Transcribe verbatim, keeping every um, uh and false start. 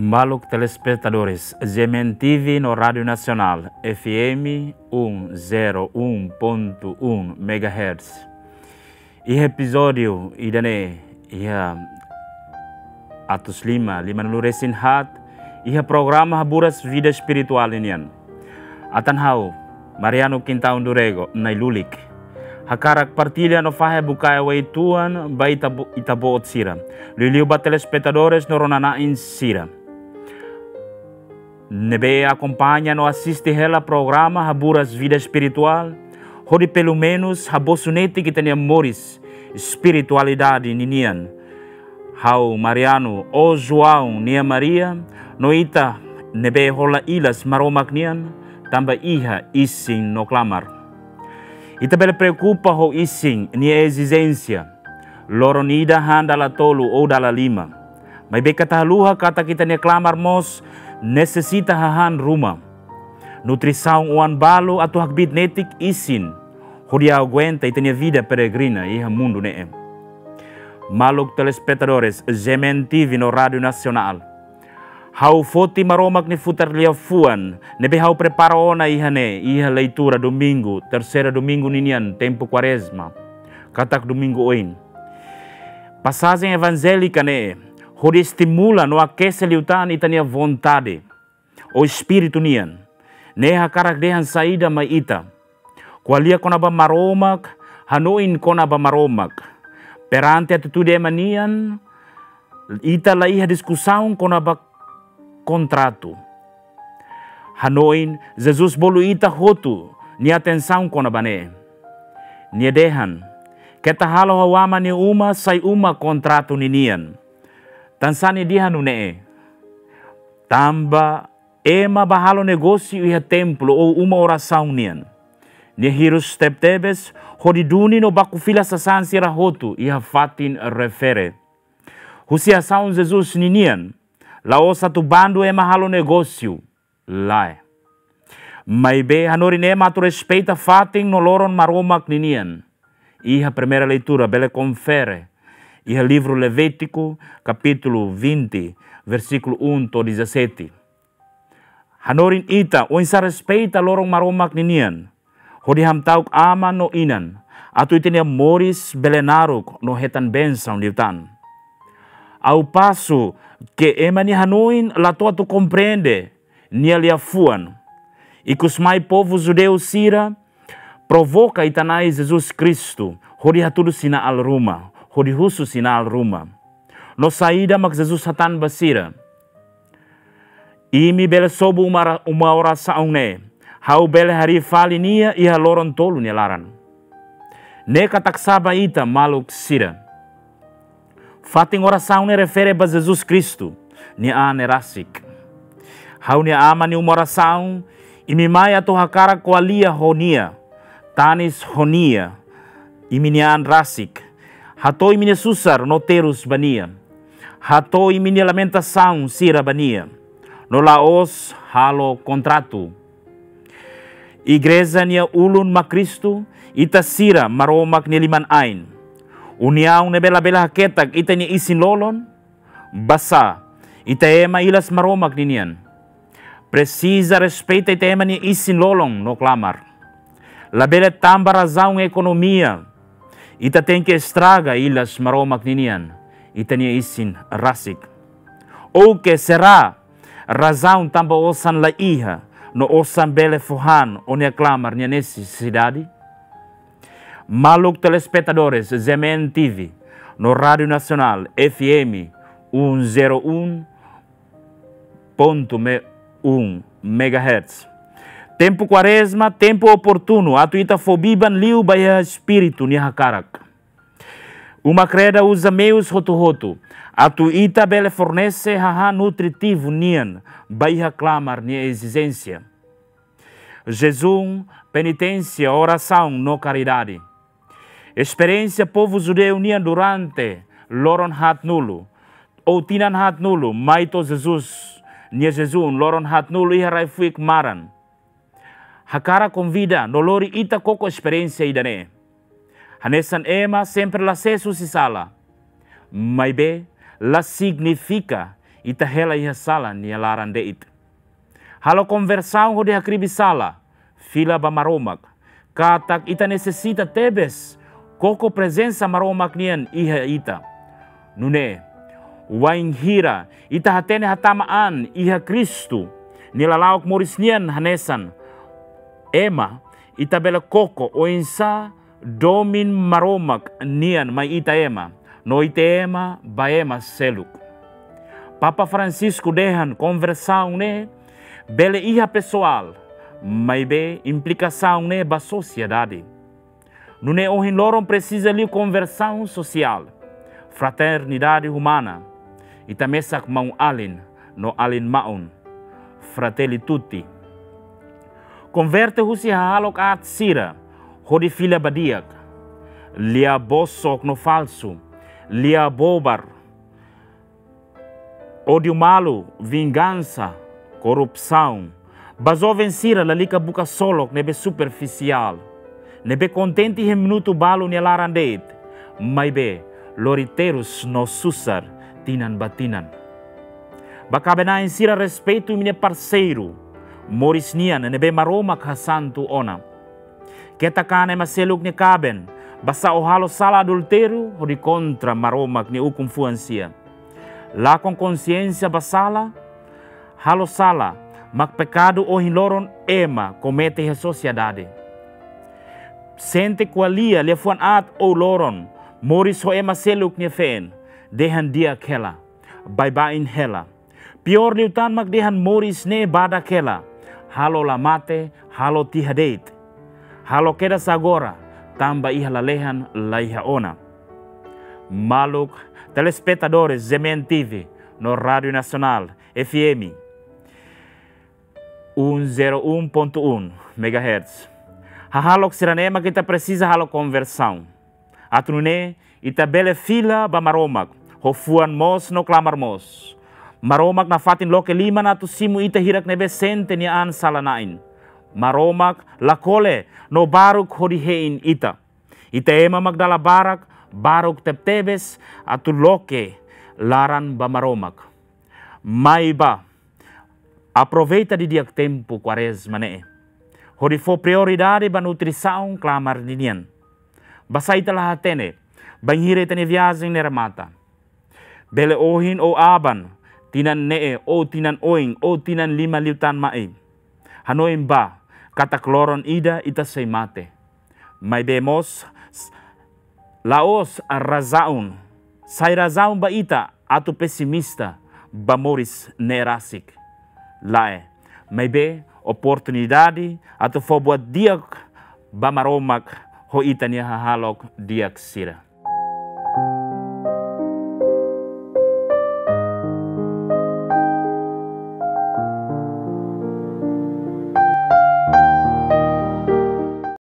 Maluk telespetadores, G M N T V no Rádiu Nasionál, F M um zero um ponto um megahertz. Iha epizódiu ida-ne'e, iha atus lima, lima-nulu resin haat, iha programa Haburas Vida Espirituál nian. Atan ha'u, Mariano Quintão do Rego, nai-lulik. Hakarak partilla no fahe bukae uitoan ba ita-bo-, ita-boot sira. Liuliu ba telespetadores no rona-na'in sira ne'ebé akompaña no asiste hela programa Haburas Vida Espirituál, hodi pelumenus habosu netik ita-nia moris espiritualidade ninian. Ha'u Mariano, ó João nia Maria, no ita ne'ebé hola ilas Maromak nian, tanba iha isin no klamar. Ita bele preokupa ho isin nia ezijénsia, loron ida han dala tolu ou dala lima. Maibé keta haluha katak ita-nia klamar mós nesesita hahán ruma. Nutrisaun oan balu atu hakbiit netik isin, hodi aguenta ita-nia vida peregrina iha mundu ne'e. Maluk telespetadores, G M N T V no Rádiu Nasionál. Ha'u foti Maromak nia futar liafuan ne'ebé ha'u prepara ona iha ne'e, iha leitura domingu, terseira domingu ninian tempu Kuarezma, katak domingu oin. Pasajen evanjélika ne'e hodi estimula no akese liután ita-nia vontade, ou espíritu nian. Ne'e hakarak dehan saida mai ita? Ko'alia kona-ba Maromak, hanoin kona-ba Maromak. Perante atitude ema nian, ita la iha diskusaun kona-ba kontratu. Hanoin, Jesus bolu ita hotu nia atensaun kona-ba ne'e. Nia dehan, keta halo ha'u Aman nia uma sai uma kontratu ninian. Tansá nia dehan nune'e? Tanba ema bá halo negósiu iha templu ou uma orasaun nian. Nia hirus tebetebes hodi duni no baku fila sasán sira hotu iha fatin refere. Husi asaun Jesus ninian, la'ós atu bandu ema halo negósiu, lae. Maibé hanorin ema atu respeita fatin no loron Maromak ninian. Iha primeira leitura bele konfere iha livru Levítiku, kapítulu vinte, versíkulu um to'o dezassete. Hanorin ita oinsá respeita loron Maromak ninian, hodi hamta'uk aman no inan, atu ita-nia moris bele naruk no hetan bensaun liután. Ao passo que ema nia hanoin la to'o atu komprende nia liafuan. Ikusmai povu judeu sira provoka ita-nia Na'i Jesus Kristu hodi hatudu sinál ruma, hodi husu sinál ruma. No saida mak Jesus hatán ba sira? Imi bele sobu uma ra-, uma orasaun ne'e, ha'u bele harii fali nia iha loron tolu nia laran. Ne'e katak sá ba ita maluk sira? Fatin orasaun ne'e refere ba Jesus Kristu, nia an ne'e rasik. Ha'u-nia Aman nia uma orasaun, imi mai atu hakarak ko'alia ho nia, tanis ho nia, imi-nia an rasik. Hato'o imi-nia susar no terus ba nia. Hato'o imi-nia lamentasaun sira ba nia. No la'ós halo kontratu. Igreja nia ulun mak Kristu, ita sira Maromak nia liman-ain. Uniaun ne'ebé labele haketak ita-nia isin-lolon, basá, ita ema ilas Maromak ninian. Presiza respeita ita ema nia isin-lolon no klamar. Labele tanba razaun ekonomia, ita tenke estraga ilas Maromak ninian, ita-nia isin rasik. Ou ke será razaun tanba osan la iha, no osan bele fó han ó-nia klamar nia nesesidade? Maluk telespetadores G M N T V no Rádiu Nasionál F M um zero um ponto um megahertz. Tempu Kuarezma, tempu oportunu atu ita fó biban liu ba iha espíritu nia hakarak. Uma Kreda uza meius hotu-hotu atu ita bele fornese hahán nutritivu nian ba iha klamar nia ezijénsia. Jejún, peniténsia, orasaun no karidade. Esperiénsia povu judeu nian durante loron haatnulu, ou tinan haatnulu, mai to'o Jesus nia jejún loron haatnulu iha rai-fuik maran. Hakarak konvida no lori ita koko esperiénsia ida-ne'e. Hanesan ema sempre la sees husi sala. Maibé, la signifika Ita hela iha sala nia laran de'it. Halo konversaun hodi hakribi sala, fila ba Maromak, katak ita nesesita tebes koko prezensa Maromak nian iha ita. Nune'e, wainhira ita hatene hatama an iha Kristu nia lala'ok moris nian hanesan ema, ita bele koko oinsá domin Maromak nian mai ita ema, no ita ema ba ema seluk. Papa Francisco dehan konversaun ne'e bele iha pesoál, maibé implikasaun ne'e ba sosiedade. Nune'e ohin loron presiza liu konversaun sosiál, fraternidade umana, ita mesak maun-alin no alin-maun, Fratelli tutti. Konverte husi hahalok aat sira hodi fila ba di'ak. Lia bosok no falsu, lia bobar, ódiu malu, vingansa, korrupsaun. Ba joven sira lalika buka solok ne'ebé superfisiál, ne'ebé kontente iha minutu balu nia laran de'it, maibé lori terus no susar tinan ba tinan. Ba kaben-na'in sira, respeitu imi-nia parseiru moris nian ne'ebé Maromak hasantu ona. Keta kaer ema seluk nia kaben, basá ó halo sala adultériu hodi kontra Maromak nia ukun-fuan sira. Lakon konxiénsia ba sala, halo sala mak pekadu ohin loron ema komete iha sosiedade. Sente ko'alia liafuan aat ou loron, moris ho ema seluk nia feen, dehan di'ak hela, baibain hela. Piór liután mak dehan moris ne'e badak hela, halo la mate, halo tiha de'it. Halo kedas agora, tanba iha lalehan laiha ona. Maluk telespetadores G M N T V no Rádiu Nasionál F M, um zero um ponto um megahertz. Hahalok sira-ne'e mak ita presiza halo konversaun. Atu nune'e, ita bele fila ba Maromak, ho fuan moos no klamar moos. Maromak nafatin loke liman atu simu ita hirak ne'ebé sente nia an sala-na'in. Maromak la kole no baruk hodi hein ita. Ita ema mak dala barak, baruk tebetebes atu loke laran ba Maromak. Mai bá, aproveita didi'ak tempu Kuarezma ne'e hodi fó prioridade ba nutrisaun klamar ninian. Basá ita la hatene bainhira ita-nia viajen ne'e remata. Bele ohin ou aban, tinan ne'e ou tinan oin ou tinan lima liután mai. Hanoin bá, katak loron ida ita sei mate. Maibé mós, s-, la'ós razaun, sai razaun ba ita atu pesimista ba moris ne'e rasik. Lae, maibé oportunidade atu fó buat di'ak ba Maromak ho ita-nia hahalok di'ak sira.